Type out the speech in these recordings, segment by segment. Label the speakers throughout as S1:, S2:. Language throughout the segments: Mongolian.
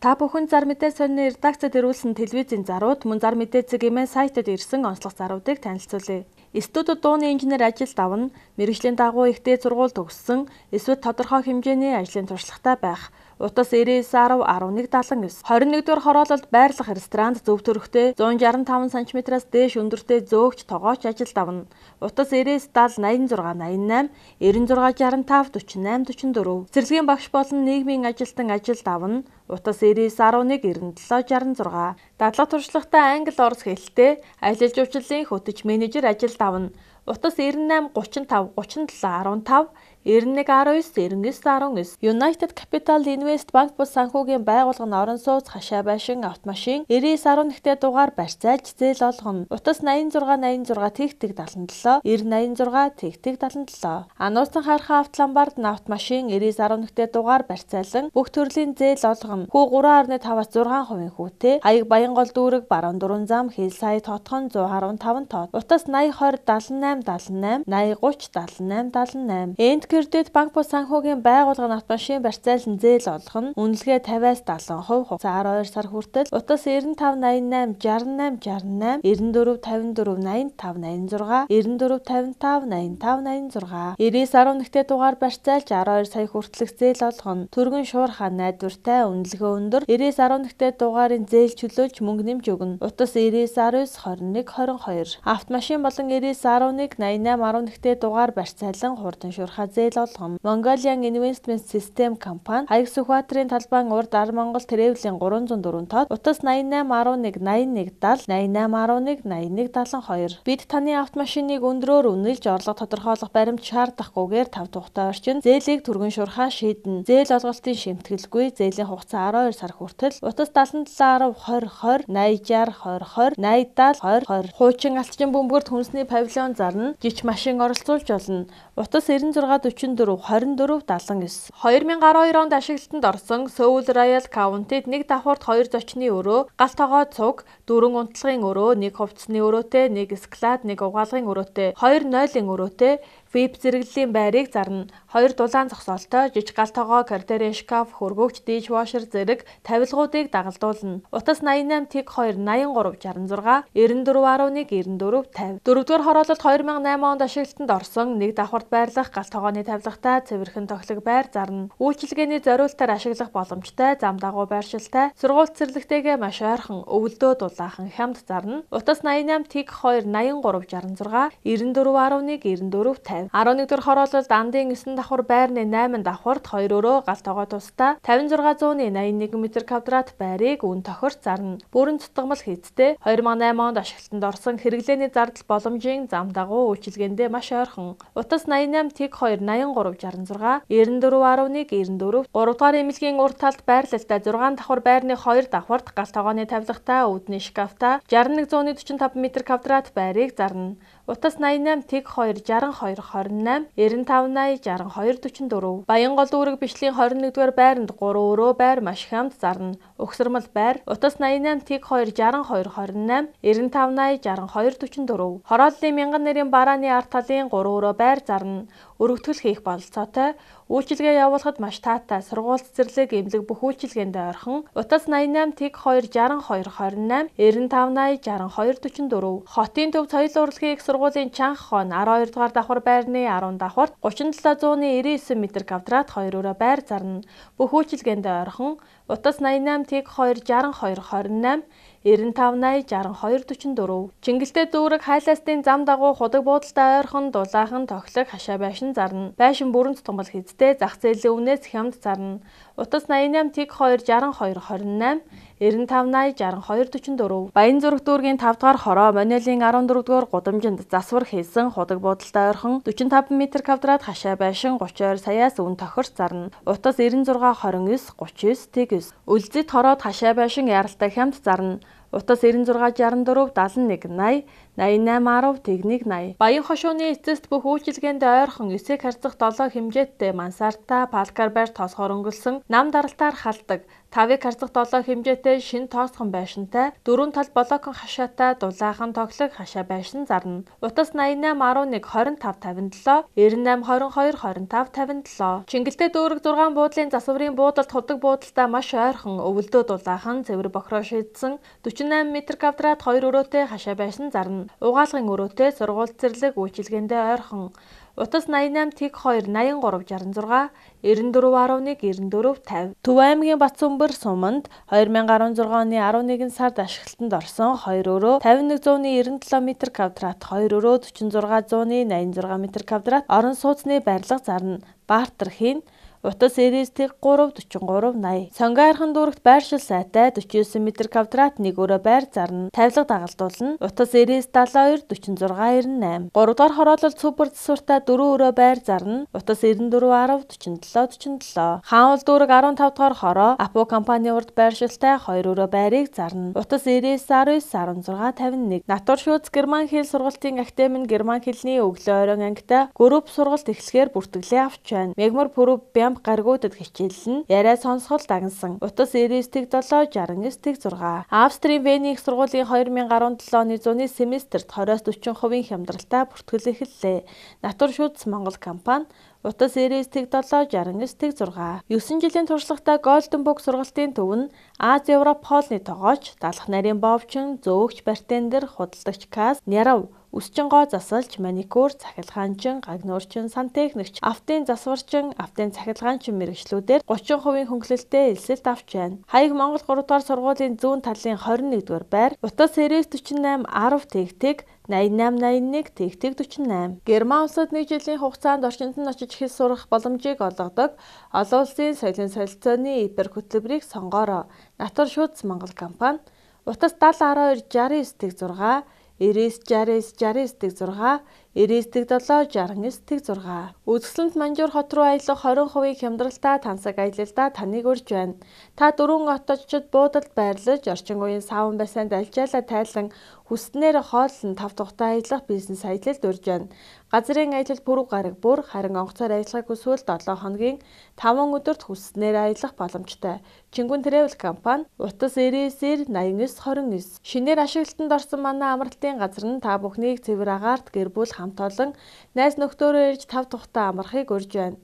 S1: Та бүхэн зар мэдээ сонины редакцид ирүүлсэн телевизийн зарууд мөн зар мэдээ цэгийн сайтад ирсэн онцлог заруудыг танилцуулъя. Студид дууны инженер ажилд авна, мэргэжлийн дагуу ихтэй сургууль төгссөн, эсвэл тодорхой хэмжээний ажлын туршлагатай байх. Утас 99.10 1179. 21-р хороололд байрлах ресторанд зөв төрхтэй 165 см-аас дээш өндөртэй зөөгч тогооч ажилд авна. Утас 99-70 86 88 96 65 48 44. Цэцэрлэгийн багш болон нийгмийн ажилтан ажилд авна. Утас 99.11 97 66. Дадлага туршлагатай англи орос хэлтэй ажиллаж жуулчлалын хөтөч менежер ажилд авна. Утас 98 35 37 15 9119 United Capital Invest Bank бус санхүүгийн байгууллага нь орон сууц хашаа байшин автомашин 99.11-тэй дугаар барьцаалж зээл олгоно. Утас 86 86 77 9086 77. Ануусан харахаа автоламбард автомашин 99.11-тэй дугаар барьцаалан бүх төрлийн зээл олгоно. Хүү 3.5-аас 6% хүүтэй. Хаяг Баянгол дүүрэг баруун дөрвөн зам хэл сая тотхон 115 тот. Утас 80 20 78 78 80 30 78 78. Энд кредит банк бус санхүүгийн байгууллага нь автомашин барьцаалан зээл олгоно. Үнэлгээ 50-аас 70% хугацаа 12 сар хүртэл. Утас 95 88 68 68 94 54 85 86 94 55 85 85 86 99.1-тэй дугаар барьцаалж 12 сая хүртэлх зээл олгоно. Түргэн шуурхаа найдвартай үнэлгээ өндөр 99.1-тэй дугаарын зээл чөлөөлж мөнгө нэмж өгнө. Утас 99 19 21 22. Автомашин болон 99.11 88.11-тэй дугаар барьцаалан хурдан шуурхаа зээл олгоно. Mongolian Investment System компани Хаяг Сүхбаатарын талбайн урд Монгол Тревлийн 304 тод. Утас 88 11 81 70 88 11 81 72. Бид таны автомашиныг өндрөөр үнэлж орлого тодорхойлох баримт шаардахгүйгээр 5 тухтай орчин зээлийг түргэн шуурхаа шийднэ. Зээл олголтын шимтгэлгүй зээлийн хугацаа 12 сар хүртэл. Утас 77 10 20 20 80 60 20 20 80 70 20 Хуучин алтчин бөмбөрт хүнсний павильон зарна. Жиж машин оролцуулж болно. Утас 96 44 24 79. 2012 онд ашиглалтанд орсон Seoul Royal County-д нэг давхурд 2 зочны өрөө, гал тогоо цуг, 4 унтлагын өрөө, 1 хувцсны өрөөтэй, 1 склад, 1 угаалгын өрөөтэй, 2 нойлын өрөөтэй веб зэрэглэлийн байрыг зарна. 2 дулаан зогсоолтой, жиж гал тогоо, картерийн шкаф, хөргөгч, дишвашер зэрэг тавилгуудыг дагалдуулна. Утас 88 тэг 2 83 66 94.11 94 50. 4-р хороололд 2008 онд ашиглалтанд орсон нэг давхурд байрлах гал тогооны тавилгатай цэвэрхэн тоглог байр зарна. Үйлчилгээний зориултаар ашиглах боломжтой, зам дагуу байршилтай, сургууль цэцэрлэгтэйгээ маш ойрхон, өвөлдөө дулаахан хямд зарна. Утас 88 тэг 2 83 66 94.1 94 50. 11-р хороололд Андын 9 давхар байрны 8 давхарт 2 өрөө гал тогоо тусдаа 5681 м2 байрыг үн тохирч зарна. Бүрэн цутгамал хийцтэй 2008 онд ашиглалтанд орсон хэрэглээний зардал боломжийн зам дагуу үйлчилгээндээ маш ойрхон. Утас 88 тэг 2 83 66 94.1 94 3 дугаар эмнэлгийн урд талд байрлалтай 6 давхар байрны 2 давхарт гал тогооны тавилгатай үүдний шкафта 6145 м2 байрыг зарна. Утас 88 тэг 2 62 28 95 80 62 44. Баянгол дүүрэг бишлийн 21-р байранд 3 өрөө байр маш хямд зарна. Өгсөрмөл байр. Утас 88 тэг 2 62 28 95 80 62 44. Хорооллын мянган нэрийн барааны арт талын 3 өрөө байр зарна. Өргөтгөл хийх бололцоотой. Үйлчилгээ явуулахад маш таатай, сургууль цэцэрлэг эмнэлэг бүх үйлчилгээндээ ойрхон. Утас 88 тэг 2 62 28 95 80 62 44. Хотын төв соёл урлагийн их сургуулийн чанх хон 12 дугаар давхар байрны 10 давхарт 3799 м2 2 өрөө байр зарна. Бүх үйлчилгээндээ ойрхон. Утас 88 тэг 2 62 28 95 80 62 44. Чингэлтэй дүүрэг хайлаастын зам дагуу худаг буудалтай ойрхон дулаахан тоглох хашаа байшин зарна. Байшин бүрэн цутгамал хийцтэй зах зээлийн өмнөөс хямд зарна. Утас 88 тэг 2 62 28 95 80 62 44. Баян зүрх дүүргийн 5 дугаар хороо Монелийн 14 дугаар гудамжинд засвар хийсэн худаг буудалтай ойрхон 45 м2 хашаа байшин 32 саяас үн тохирч зарна. Утас 96 29 39 9. Үлзэд хороод хашаа байшин яралтай хямд зарна. Утас 9664 71 80 8810 техник 80. Баян хошууны эцэст бүх үйлчилгээнд ойрхон 9-г харьцах 7 хэмжээтэй мансарта палкар байр тоосгоор өнгөлсөн нам даралтаар халдаг 5-г харьцах 7 хэмжээтэй шин тоосгон байшинтай 4 тал блокон хашаатай дулаахан тоглог хашаа байшин зарна. Утас 8811 2557 9822 2557. Чингэлтэй дүүрэг 6 буудлын засварын буудалд худаг буудалтай маш ойрхон өвөлдөө дулаахан цэвэр бохроо шийдсэн 48 м2 2 өрөөтэй хашаа байшин зарна. Угаалгын өрөөтэй сургууль цэрлэг үйлчилгээндээ ойрхон. Утас 88 тэг 2 8366 9411 9450. Төв аймгийн Батцүмбэр суманд 2016 оны 11 сард ашиглалтанд орсон 2 өрөө 5197 м2 2 өрөө 46 86 м2 орон сууцны барилга зарна. Баартар-хийн Утас 93 43 80. Сонгойрхон дүүрэгт байршил сайтай 49 м2 1 өрөө байр зарна. Тавилга дагалдуулна. Утас 72 46 98. 3 дугаар хороолол супер засвартай 4 өрөө байр зарна. Утас 94 10 47 47. Хаанвал дүүрэг 15 дугаар хороо Апо компани урд байршилтай 2 өрөө байрыг зарна. Утас 99 19 16 51. Натур шүүц герман хэл сургалтын академийн герман хэлний өглөө оройн ангитай групп сургалт эхлэхээр бүртгэлээ авч байна. Мегмар пүрэв гаргуудад хичээллэн яриа сонсгол дагнсан. Утас 99 7 69 6. Австрийн Вений их сургуулийн 2017 оны зуны семестрт 20-40% хямдралтай бүртгэл эхэллээ. Натур шүүц Монгол компани Утас 99 7 69 6. 9 жилийн туршлагатай Голденбук сургалтын төв нь Аз Европ хоолны тогооч, далах нарийн бовчин, зөөгч бартендер, худалдагч кас, нярав Үсчин гоо засалж, маникюр, цахилгаанчин, гагнуурчин, сантехникч, автын засварчин, автын цахилгаанчин мэргэжлүүдээр 30% хөнгөлөлтөд элсэлт авч байна. Хаяг Монгол 3 дугаар сургуулийн зүүн талын 21-р байр, Утас 99 48 10 тэг 8881 тэг 48. Герман улсад 1 жилийн хугацаанд орчинд нь очиж хэл сурах боломжийг олгодог олон улсын соёлын солилцооны ипер хөтөлбөрийг сонгоорой. Натур шүүц Монгол компани Утас 70 12 69 6 99 69 69 6 99 7 69 Үзэсгэлэнт Манжуур хот руу аялах 20% хямдралтай тансаг аялалдаа таныг урьж байна. Та дөрвөн оточид буудалд байрлаж орчин үеийн савн бассейнд альжаалаа тайлан хүснээр хооллон 5 тухтай аялах бизнес аялалд урьж байна. Газрын аялал пүрэв гараг бүр харин онгоцоор аялахыг хүсвэл 7 хоногийн 5 өдөрт хүснээр аялах боломжтой. Чингүн Travel компани Утас 99 89 29. Шинээр ашиглалтанд орсон манай амралтын газар нь та бүхнийг цэвэр агаарт гэр бүл хамт олон найз нөхдөөрөө ирж 5 тухтай амрахыг урьж байна.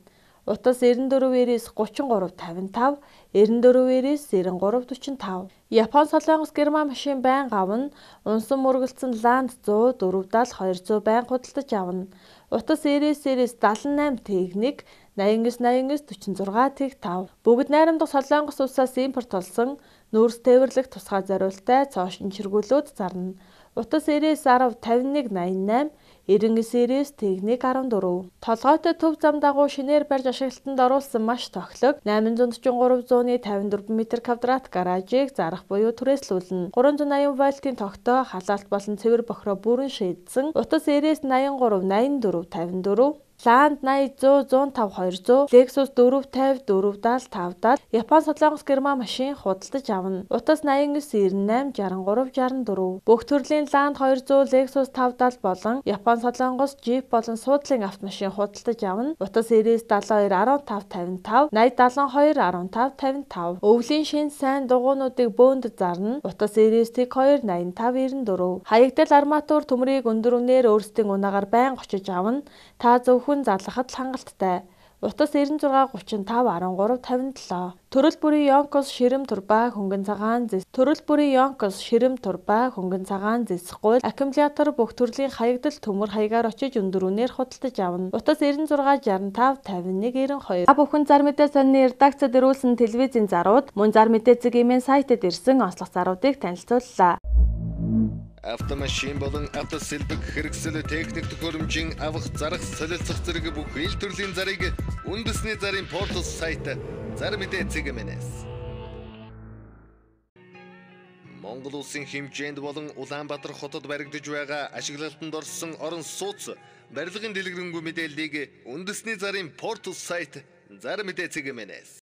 S1: Утас 94 33 55 94 93 45. Япон Солонгос Герман машин байнга авна. Унсан мөргөлдсөн Ланд 100 470 200 байнга худалдаж авна. Утас 99 78 техник 89 89 46 тэг 5. Бүгд найрамдах Солонгос улсаас импорт болсон нүүрс тээвэрлэх тусгай зориултай цоо шинжиргүүлүүд зарна. Утас 99 10 51 88 99 техник 14. Толгойтой төв зам дагуу шинээр барьж ашиглалтанд оруулсан маш тохилог 843 зууны 54 м2 гаражийг зарах буюу түрээслүүлнэ. 380 вольтын тогтоо халаалт болон цэвэр бохроо бүрэн шийдсэн. Утас 99 83 84 54 Ланд 80 100 105 200, Lexus 450 470 570, Япон Солонгос Герман машин худалдаж авна. Утас 89 98 63 64. Бүх төрлийн Ланд 200, Lexus 570 болон Япон Солонгос Jeep болон суудлын автомашин худалдаж авна. Утас 99 72 15 55, 80 72 15 55. Өвлийн шин сайн дугуйнуудыг бөөнд зарна. Утас 99 2 85 94. Хаягдал арматур төмрийг өндөр үнээр өөрсдийн унаагаар байнга очиж авна. Та зөвхөн зарлахад л хангалттай. Утас 96 35 13 57. Төрөл бүрийн Yonkos ширэм турба хөнгөн цагаан зэс. Төрөл бүрийн Yonkos ширэм турба хөнгөн цагаан зэсгүй аккумулятор бүх төрлийн хаягдал төмөр хаягаар очиж өндөр үнээр худалдаж авна. Утас 96 65 51 92. Бүхэн зар мэдээ сонины редакцид ирүүлсэн телевизийн зарууд мөн зар мэдээ цэгийн сайтад ирсэн онцлог заруудыг танилцууллаа.
S2: Автомашин болон автосэлбэг хэрэгсэл техник төхөөрөмжийн авах зарах солилцох зэрэг бүх ил төрлийн зарыг үндэсний зарын портал сайт зар мэдээ цэгмэнэс. Монгол улсын хэмжээнд болон Улаанбаатар хотод баригдаж байгаа ашиглалтанд орсон орон сууц барилгын дэлгэрэнгүй мэдээллийг үндэсний зарын портал сайт зар мэдээ цэгмэнэс.